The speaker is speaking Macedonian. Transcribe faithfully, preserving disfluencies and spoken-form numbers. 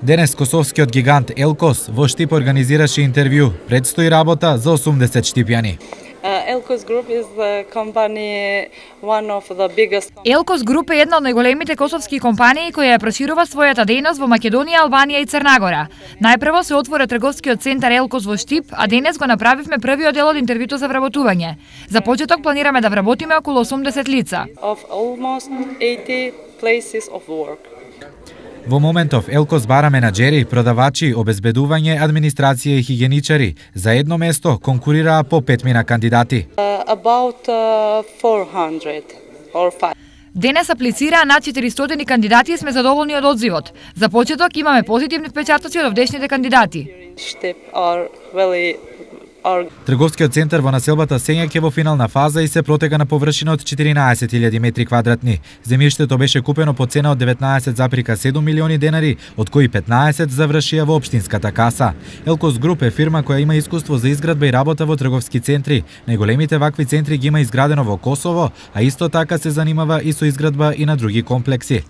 Денес косовскиот гигант Елкос во Штип организираше интервју. Предстои работа за осумдесет штипјани. Елкос Груп is the company one of the biggest. Елкос Груп е една од најголемите косовски компании која ја проширува својата дејност во Македонија, Албанија и Црна Гора. Најпрво се отвори трговскиот центар Елкос во Штип, а денес го направивме првиот дел од интервјуто за вработување. За почеток планираме да вработиме околу осумдесет лица. Of almost eighty places of work. Во моментов Елкос бара менаџери, продавачи, обезбедување, администрација и хигиеничари. За едно место конкурираа по петмина кандидати. Uh, about uh, four hundred or five. Денес аплицираа над четиристотини кандидати и сме задоволни од одзивот. За почеток имаме позитивни впечатоци од овдешните кандидати. Штип are really are... Трговскиот центар во населбата Сењак е во финална фаза и се протега на површина од четиринаесет илјади метри квадратни. Земјиштето беше купено по цена од деветнаесет зарез седум милиони денари, од кои петнаесет завршија во општинската каса. Елкос Груп е фирма која има искуство за изградба и работа во трговски центри. Најголемите вакви центри ги има изградено во Косово, а исто така се занимава и со изградба и на други комплекси.